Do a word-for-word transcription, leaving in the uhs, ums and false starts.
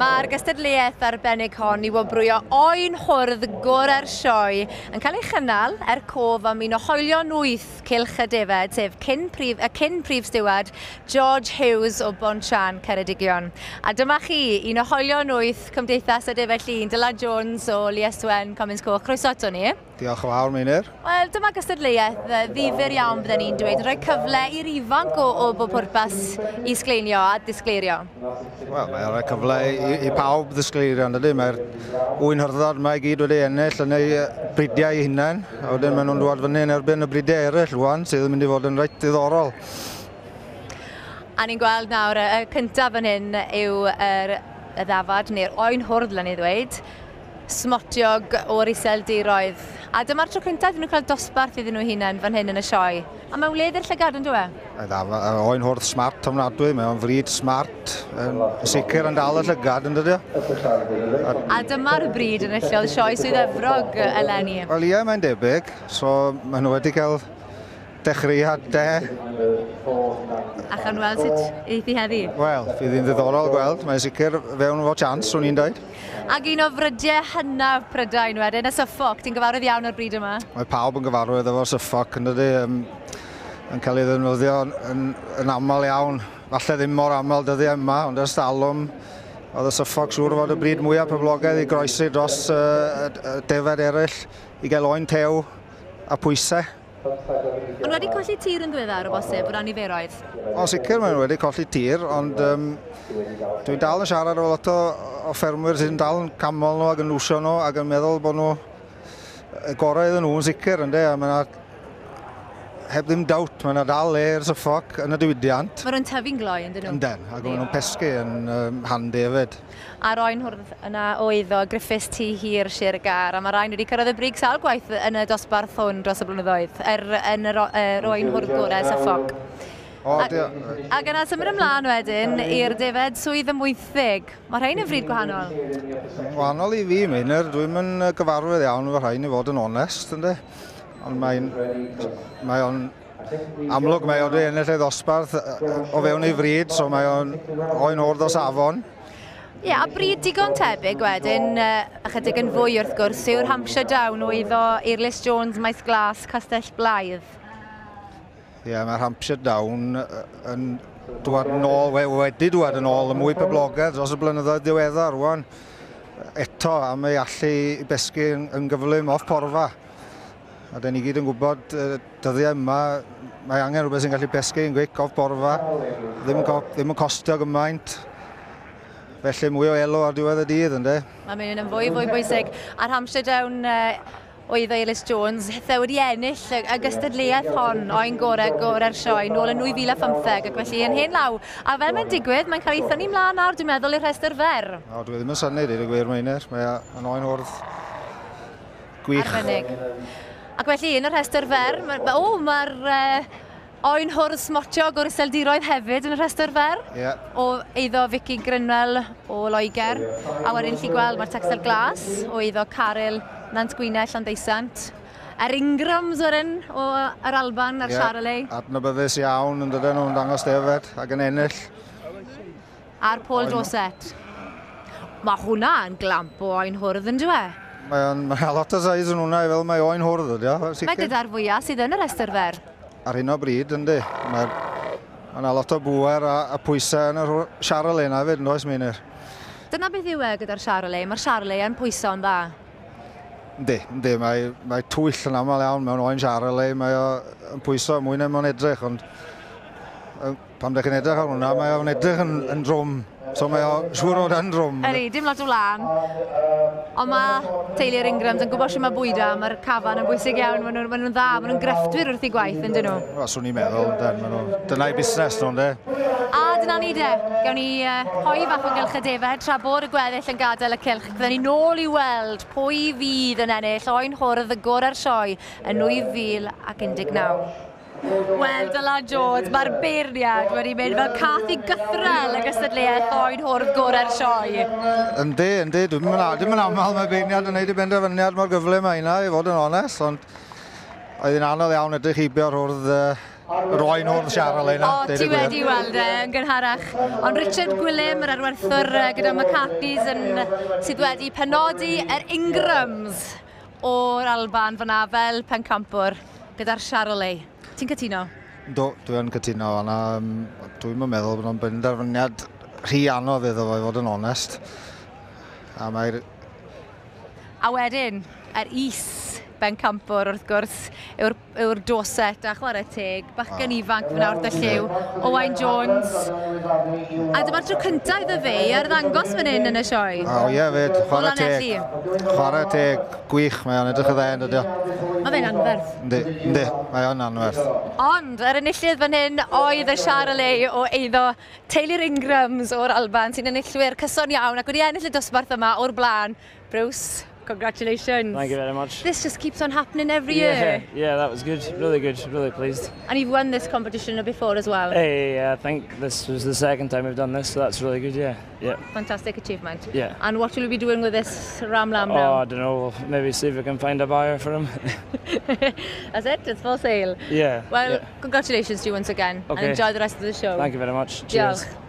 Mae'r gystadleuaeth arbennig hon i wobrwyo oen hwrdd gorau'r sioe yn cael ei chynnal er cof am un o hoelion wyth Cylch y Defed, sef cyn prif, y cyn prif stiward George Hughes o Bontsian, Ceredigion. A dyma chi, un o hoelion wyth Cymdeithas y Defed Llun, Dylan Jones o Lieswen, Comins Coch. Croeso ato ni. Diolch yn fawr, Meinir. Wel, dyma gystadleuaeth ddifyr iawn, bydden ni'n dweud, rhoi cyfle i'r ifanc o, o bob pwrpas i sgleinio a disgleirio. Wel, mae'n rhoi cyfle i, i pawb ddisgleirio, yn dydy? Mae'r ŵyn hyrddod yma i gyd wedi ennill yn eu bridiau eu hunain, a wedyn maen nhw'n dod fyny yn erbyn y bridiau eraill rwan, sydd yn mynd i fod yn reit ddiddorol. A ni'n gweld nawr, y cyntaf fan hyn yw yr, y ddafad, neu'r oen hwrdd, le ni ddweud, smotiog o'r Iseldiroedd. A dyma'r tro cyntaf iddyn nhw cael dosbarth iddyn nhw hunain fan hyn yn y sioe. A mae'n wledd i'r llygad, yn dyw e? Oen hwrdd smart ofnadwy, mae o'n fryd smart, yn sicr yn dal y llygad, yn dydy? A, a dyma'r bryd yn enillodd sioe Swydd Efrog eleni. Wel ie, mae'n debyg. So maen nhw wedi cael dechreuad de. A chawn weld sut eith hi heddi? Wel, fydd hi'n ddiddorol gweld. Mae'n sicr fewn fo chance, swn i'n dweud. Ac un o frydiau hynaf Prydain wedyn, y Suffolk. Ti'n gyfarwydd iawn o'r bryd yma? Mae pawb yn gyfarwydd efo'r Suffolk, yn dydy, um, yn cael ei ddefnyddio yn, yn, yn aml iawn. Falle ddim mor aml dyddiau yma, ond ers talwm, oedd y Suffolk siŵr fod y bryd mwyaf poblogaidd i groesi dros uh, defed eraill i gael oen tew a pwysau. Ond wedi colli tir yn ddiweddar o bosib, o ran niferoedd? O, sicr maen nhw wedi colli tir, ond um, dwi'n dal yn siarad efo lot o, o ffermwyr sy'n dal yn camol nhw ac yn lwsio nhw ac yn meddwl bod nhw y gorau iddyn nhw yn sicr, yndê, a mae yna, heb ddim dawt, mae yna dal le i'r Suffolk yn y diwydiant. Maen nhw'n tyfu'n gloi, yndyn nhw? Yndyn, ac maen nhw'n pesgu yn um, handi hefyd. A'r oen hwrdd yna oedd o Griffiths Tŷ Hir Sir Gâr, a mae rhain wedi cyrraedd y brig sawl gwaith yn y dosbarth hwn dros y blynyddoedd, er, yn yr, yr oen hwrdd gorau Suffolk. O, A, ac yna symud ymlaen wedyn i'r defed Swydd Amwythig. Mae rhain yn fryd gwahanol. Wahanol i fi, Meinir. Dwi'm yn gyfarwydd iawn efo rhain i fod yn onest, yndê. Ond mae'n mae o'n amlwg mae o wedi ennill ei ddosbarth o fewn ei fryd, so mae o'n oen hwrdd o safon. Ie, yeah, a bryd digon tebyg wedyn, ychydig yn fwy wrth gwrs, yw'r Hampshire Down o eiddo Eirlys Jones, Maes Glas, Castell Blaidd. Ie, yeah, mae'r Hampshire Down yn dŵad yn ôl, wedi dŵad yn ôl, y mwy poblogaidd dros y blynyddoedd diweddar rwan. Eto am ei allu i besgu yn, yn gyflym off porfa. A dyn ni gyd yn gwybod dyddiau yma, mae angen rhywbeth sy'n gallu pesgu yn gwic off borfa, ddim yn, ddim yn costio gymaint. Felly mwy o elw ar diwedd y dydd, yndê? Mae'n mynd yn fwy, fwy bwysig. A'r Hampshire Down oedd Eirlys Jones, hithe wedi ennill y, y gystadleuaeth hon oen gorau gorau'r sioe nôl yn nwy fil a phymtheg, ac felly yn hen law. A fel mae'n digwydd, mae'n cael ei thynnu mlaen nawr, dwi'n meddwl, i'r rhestr fer. O, dwi ddim yn synnu, deud y gwir, Meinir. Mae'n oen hwrdd gwych. Arbennig. Ac felly, yn y rhestr fer, ma, o, mae'r uh, oen hwrdd smotiog o'r Iseldiroedd hefyd yn y rhestr fer. Yeah. O eiddo Vicky Grynwell o Loegr. A wedyn chi gweld mae'r Texel Glas o eiddo Caryl Nant Gwynedd Llanddeusant. Yr Ingrams wedyn o yr Alban a'r yeah. Charolais. Adnabyddus iawn yn dydyn nhw'n dangos defed ac yn ennill. A'r Paul Dorset. Mae hwnna yn glamp o oen hwrdd, yn dyw e? Mae'n mae lot o size yn hwnna i fel mae oen hwrdd, ydy o. Mae gyda'r fwyaf sydd yn y rhestr fer. Ar hyn o bryd, yndi. Mae yna lot o bŵer a, a pwysau yn yr Charolais yna hefyd, yn oes, Meinir? Dyna beth yw e gyda'r Charolais. Mae'r Charolais yn pwyso'n dda. Yndi, yndi. Mae, mae twyll yn aml iawn mewn oen Charolais. Mae o'n pwyso mwy na mae'n edrych, ond pan ydych chi'n edrych ar hwnna, mae o'n edrych yn, yn drwm. So mae o siŵr o dan drwm. Ydy, dim lot o wlân. Ond mae teulu'r Ingrams yn gwybod sut mae bwyda, mae'r cafan yn bwysig iawn, maen nhw'n ma nhw dda, maen nhw'n grefftwyr wrth eu gwaith, yn dyn nhw? Wel, swn i'n meddwl, yndyn, maen nhw, dyna'i busnes nhw, yndê? A dyna ni de, gawn ni uh, hoi fach o gylch y defed, tra bod y gweddill yn gadael y cylch. Byddwn ni nôl i weld pwy fydd yn ennill oen hwrdd y gorau'r sioe yn nwy fil ac un deg naw. Wel, Dylan Jones, mae'r beirniad wedi mynd fel cath i gythrel y gystadleuaeth oen hwrdd gorau'r sioe. Yndi, yndi, dwi'm yn aml mae beirniad yn neud i benderfyniad mor gyflym â hynna, i fod yn onest, ond oedd hi'n anodd iawn edrych heibio'r hwrdd uh, yr oen hwrdd Charolais yna. O, ti wedi weld e yn gynharach. Ond Richard Gwilym, yr arwerthwr gyda McCartney's, yn, sydd wedi penodi yr Ingrams o'r Alban fyna fel pencampwr gyda'r Charolais. Ti'n cytuno? Do, dwi'n cytuno fanna. Dwi'n meddwl bod o'n benderfyniad rhy anodd iddo fo i fod yn onest. A mae'r... A wedyn, yr is bencampwr wrth gwrs, yw'r yw'r Dorset a chwarae teg, bachgen ifanc fyna wrth y llyw, Owain Jones. A dyma'r tro cyntaf iddo fe ar ddangos fan hyn yn y sioe. O ie fyd, chwarae teg. Chwarae teg, gwych, mae o'n edrych yn dda, yn dydi o. Mae fe'n anferth. Yndi, yndi, mae o'n anferth. Ond yr enillydd fan hyn oedd y Charolais o eiddo teulu'r Ingrams o'r Alban, sy'n enillwyr cyson iawn ac wedi ennill y dosbarth yma o'r blaen. Bruce, congratulations. Thank you very much. This just keeps on happening every yeah, year. Yeah, that was good. Really good. Really pleased. And you've won this competition before as well. Hey, yeah, I think this was the second time we've done this, so that's really good, yeah. Yeah. Fantastic achievement. Yeah. And what will you be doing with this ram lamb Oh, now? I don't know. We'll maybe see if we can find a buyer for him. That's it, it's for sale. Yeah. Well, yeah. congratulations to you once again. Okay. And enjoy the rest of the show. Thank you very much. Cheers. Diolch.